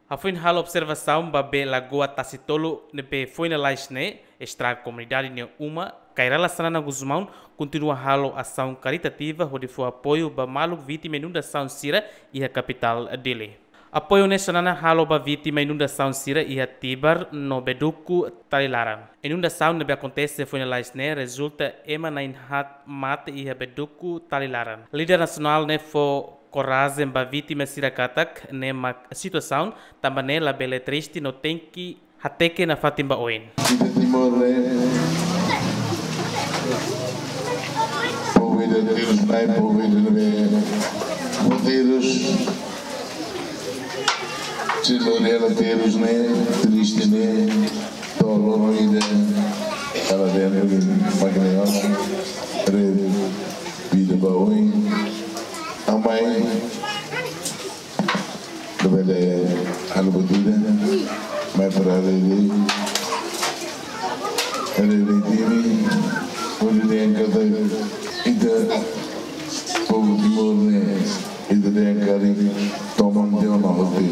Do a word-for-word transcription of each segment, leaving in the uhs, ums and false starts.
Hafoin halo observasaun ba bee Lagoa Tasi Tolu ne'ebé foin lalais ne'e estraga komunidade nia uma, Kay Rala Xanana Gusmão kontinua halo asaun karitativa hodi fó apoiu ba maluk vítima inundasaun sira iha kapitál Dili. Apoiu ne'e Xanana halo ba vítima inundasaun sira iha Tibar no Beduku Talilaran. Inundasaun ne'ebé akontese foin lalais ne'e rezulta ema na'in-haat mate iha Beduku Talilaran. Líder nasionál ne'e fó korajen ba vítima sira katak ne'e mak situasaun, tanba ne'e labele triste no tenke hateke nafatin ba oin. Ita Timor ne'e, povu ida terus naik, povu ida ne'ebé terus, se lori hela terus ne'e, triste ne'e, to'o loron ida, hela dentro de Makineon, re vida ba oin, amai, labele halo buat ida, mai para haree, haree time, hodi dehan katak ita povu Timor ne'e, ita dehan karik toman tiha ona hotu.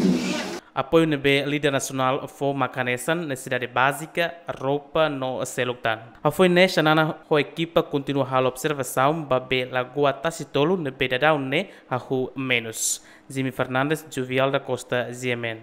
Apoiu ne'ebé líder nasionál fó mak hanesan nesesidade bázika, roupa no seluk tan. Hafoin ne'e Xanana ho ekipa kontinua halo observasaun ba bee Lagoa Tasi Tolu ne'ebé daudaun ne'e hahú menus. Jimmy Fernandes, Juvial da Costa, G M N.